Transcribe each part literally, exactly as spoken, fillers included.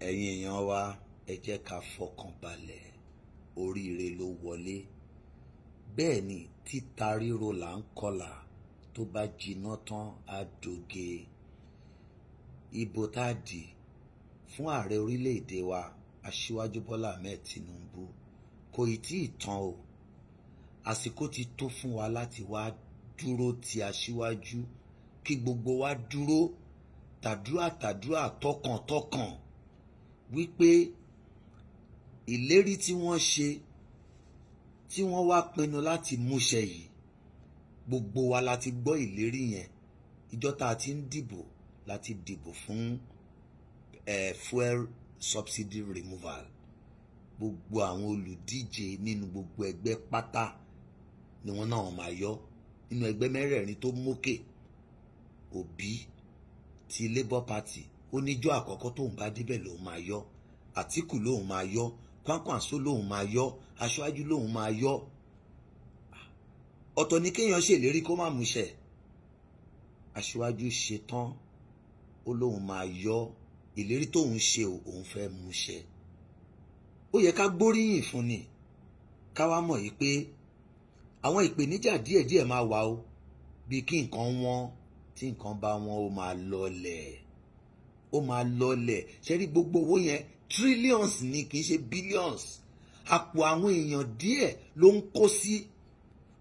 Ẹ̀yin èèyàn wa, ẹ jẹ́ ká fọkàn balẹ̀, oríire ló wọlé. Bẹ́ẹ̀ ni, títa ríro là ń kọlà, tó bá jiná tán á doge. Ìbò tá a dì fún ààrẹ orílẹ̀-èdè wa, Aṣíwájú Bọ́lá Ahmed Tinubu, kò ì tí ì tán o. Àsìkò ti tó fún wa láti wá dúró ti aṣíwájú, kí gbogbo wa dúró tàdúrà tàdúrà tọkàntọkàn wípé ìlérí tí wọ́n ṣe, tí wọ́n wá pinnu láti múṣẹ yìí, gbogbo wa la ti gbọ́ ìlérí yẹn. Ìjọ tá a ti ń dìbò láti dìbò fún eh, fuel subsidy removal. Gbogbo àwọn olùdíje nínú gbogbo ẹgbẹ́ pátá ni wọ́n náà máa yọ. Nínú ẹgbẹ́ mẹ́rẹ̀ẹ̀rin tó mókè, Obi ti Labour Party ó níjọ́ àkọ́kọ́ tóun bá débẹ̀ lòun máa yọ, Àtíkù lòun máa yọ, Kwankwanso lòun máa yọ, Aṣáájú lòun máa yọ. Ọ̀tọ̀ ni kéèyàn ṣèlérí kó má múṣẹ. Aṣíwájú ṣetán, ó lóun máa yọ ìlérí tóun ṣe, òun fẹ́ múṣẹ. Ó yẹ ká gbóríyìn fún ni, ká wá mọ̀ yìí pé àwọn ìpèníjà díẹ̀díẹ̀ máa wà o, bí kí nǹkan wọ́n. Tí nǹkan bá wọ́n, ó máa lọlẹ̀, ó máa lọlẹ̀. Ṣe rí gbogbo owó yẹn, trillions ni, kì í ṣe billions. Àpò àwọn èèyàn díẹ̀ ló ń kó sí,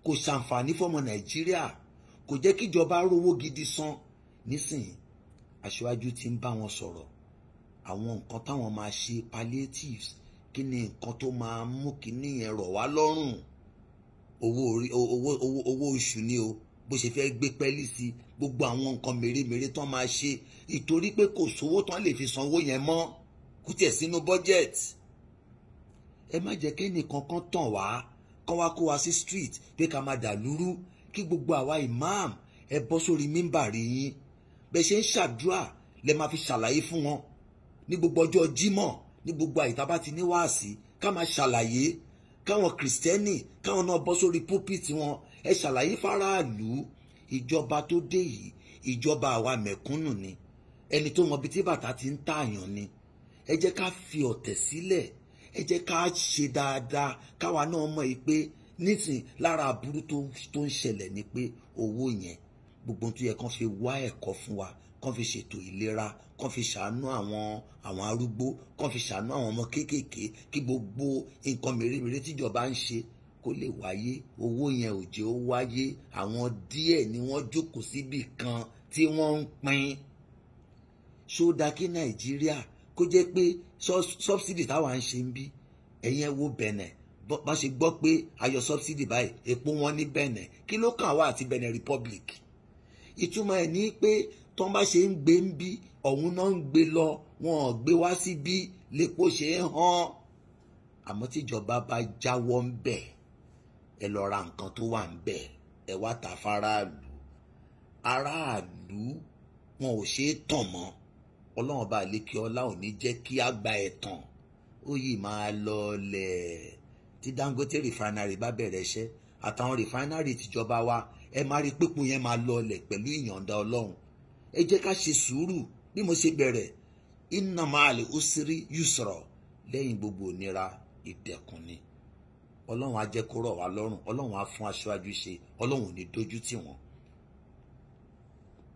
kò ṣàǹfààní fọmọ Nàìjíríà, kò jẹ́ kíjọba rówó gidi san. Nísìnyí, aṣáájú ti ń bá wọn sọ̀rọ̀ àwọn nǹkan táwọn máa ṣe, palliatives, kí ni nǹkan tó máa mú kíní yẹn rọ̀ wá lọ́rùn. Owó orí, owó owó owó oṣù ni o, bó ṣe fẹ́ gbé pẹ́lí sí, gbogbo àwọn nǹkan mèremère tán máa ṣe, ìtorí pé kò sówó tán lè fi sanwó yẹn mọ́, kò tiẹ̀ sínú budget. Ẹ má jẹ́ kẹ́nì kankan tàn wá, kán wá kó wa sí street pé ká máa dà lúrú. Kí gbogbo àwa imam, ẹ bọ́ sórí mímbàrí yín, bẹ́ẹ̀ ṣe ń ṣàdúrà lẹ máa fi ṣàlàyé fún wọn ní gbogbo ọjọ́ Jímọ̀, ní gbogbo àyíká bá ti ní wáàsí, ká máa ṣàlàyé. Káwọn Kìrìsìtẹ́nì, káwọn náà bọ́ sórí pulpit wọn, ẹ ṣàlàyé fáráàlú. Ìjọba tó dé yìí, ìjọba àwa mẹ̀kúnnù ni, ẹni tó mọ ibi tí bàtà ti ń tààyàn ni. Ẹ jẹ́ ká fi ọ̀tẹ̀ sílẹ̀, ẹ jẹ́ ká ṣe dáadáa, káwa náà mọ̀ yìí pé nísìn lára aburú tó ń ṣẹlẹ̀ ni pé owó yẹn, gbogbo tó yẹ kán fi wá ẹ̀kọ́ fún wa, kán fi ṣètò ìlera, kán fi ṣàánú àwọn àwọn arúgbó, kán fi ṣàánú àwọn ọmọ kéékèèké, kí gbogbo nǹkan mèremère tíjọba ń ṣe kó lè wáyé, owó yẹn ò jẹ́ ó wáyé. Àwọn díẹ̀ ni wọ́n jókòó síbì kan tí wọ́n ń pín. Ṣó dáa kí Nàìjíríà kó jẹ́ pé subsidy táwa ń ṣe ń bí? Ẹ̀yin ẹ wo Benin, bá ṣe gbọ́ pé ayọ̀ subsidy báyìí, epo wọn ní Benin. Kí ló kàn wá àti Benin Republic? Ìtumọ̀ ẹ̀ ní pé tọ́n bá ṣe ń gbé ń bí, ọ̀hún náà ń gbé lọ, wọn ò gbé wá síbí lépo ṣe ń hàn. Àmọ́ tíjọba bá jáwọ́ ń bẹ̀, ẹ lọ ra nǹkan tó wà ń bẹ̀, ẹ wá ta fáráàlú. Aráàlú wọn ò ṣe é tàn mọ́. Ọlọ́run bá lékè ọlá ò ní jẹ́ kí á gba ẹ̀tàn, ó yìí máa lọlẹ̀. Tí Dangote refinery bá bẹ̀rẹ̀ iṣẹ́, àtàwọn refinery tìjọba wa, ẹ máa rí pípọ̀ yẹn máa lọlẹ̀ pẹ̀lú ìyọ̀ǹda Ọlọ́run. Ẹ jẹ́ ká ṣe sùúrù. Bí mo ṣe bẹ̀rẹ̀, inna ma'al usri yusra, lẹ́yìn gbogbo ìnira ìdẹ̀kùn ni. Ọlọ́run á jẹ́ kó rọ̀ wá lọ́rùn, Ọlọ́run á fún aṣáájú ṣe, Ọlọ́run ò ní dójú tì wọ́n.